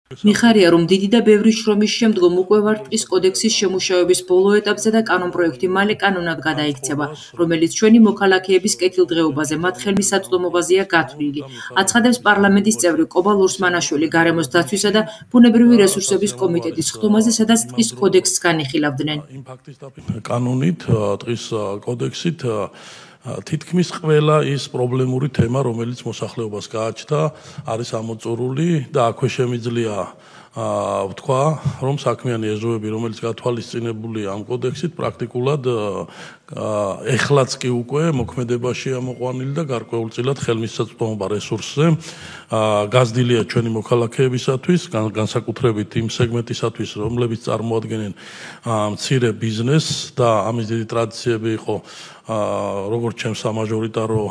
მიხარია, რომ დიდი და ბევრი შრომის შემდგომ უკვე ვართ ტყის კოდექსის შემუშავების ბოლო ეტაპზე და კანონპროექტი მალე კანონად გადაიქცევა, რომელიც ჩვენი მოქალაქეების კეთილდღეობაზე, მათ ხელმისაწვდომობაზეა გათვლილი. აცხადებს პარლამენტის წევრი კობა ლურსმანაშვილი გარემოს დაცვისა და ბუნებრივი რესურსების კომიტეტის ხდომაზე, სადაც ტყის კოდექსს განიხილავდნენ. კანონით, ტყის კოდექსით თითქმის ყველა ის პრობლემური თემა, რომელიც მოსახლეობას გააჩნდა, არის ამოწურული და აქვე შემიძლია ვთქვა, რომ საქმიანი ეზოები, რომელიც გათვალისწინებულია ამ კოდექსით, პრაქტიკულად ეხლაც კი უკვე მოქმედებაშია მოყვანილი და გარკვეულწილად ხელმისაწვდომობა რესურსზე გაზრდილია ჩვენი მოქალაქეებისათვის, განსაკუთრებით იმ სეგმენტისათვის, რომლებიც წარმოადგენენ მცირე ბიზნესს და ამის დიდი ტრადიციები იყო როგორც ჩემს სამაჟორიტარო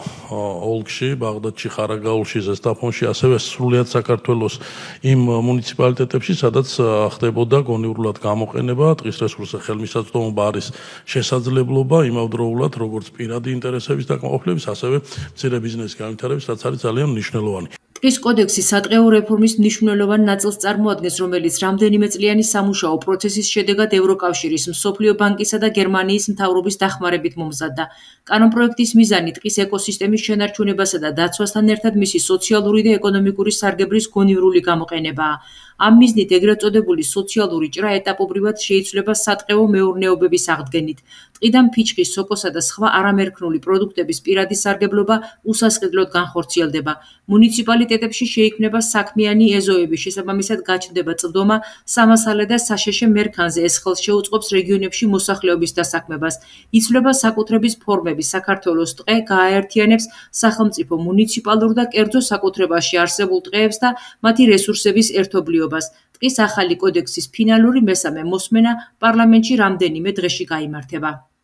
ოლქში, ბაღდადში, ხარაგაულში, ზესტაფონში, ასევე სრულიად საქართველოს იმ მუნიციპალიტეტებში, სადაც ხდებოდა გონივრულად გამოყენება, ტყის რესურსზე ხელმისაწვდომობა არის შესაძლებლობა იმავდროულად, როგორც პირადი ინტერესების დაკმაყოფილების, ასევე მცირე ბიზნესის განვითარების, რაც არის ძალიან მნიშვნელოვანი. ტყის კოდექსი სატყეო რეფორმის მნიშვნელოვან ნაწილს წარმოადგენს, რომელიც რამდენიმე წლიანი სამუშაო პროცესის შედეგად ევროკავშირის, მსოფლიო ბანკისა და გერმანიის მთავრობის დახმარებით მომზადდა. კანონპროექტის მიზანი ტყის ეკოსისტემის შენარჩუნებასა და დაცვასთან ერთად მისი სოციალური და ეკონომიკური სარგებლის გონივრული გამოყენებაა. ამ მიზნით ეგრეთ წოდებული სოციალური ჭრა ეტაპობრივად შეიცვლება სატყეო მეურნეობების აღდგენით. ტყიდან ფიჭვის, სოკოსა და სხვა არამერქნული პროდუქტების პირადი სარგებლობა უსასყიდლოდ განხორციელდება. მუნიციპალიტეტებში შეიქმნება საქმიანი ეზოები, შესაბამისად გაჩნდება წვდომა სამასალე და საშეშე მერქანზე, ეს ხელს შეუწყობს რეგიონებში მოსახლეობის დასაქმებას. იცვლება საკუთრების ფორმები, საქართველოს ტყე გააერთიანებს სახელმწიფო, მუნიციპალურ და კერძო საკუთრებაში არსებულ ტყეებს და მათი რესურსების ერთობლიობას. ტყის ახალი კოდექსის ფინალური მესამე მოსმენა პარლამენტში რამდენიმე დღეში გაიმართება.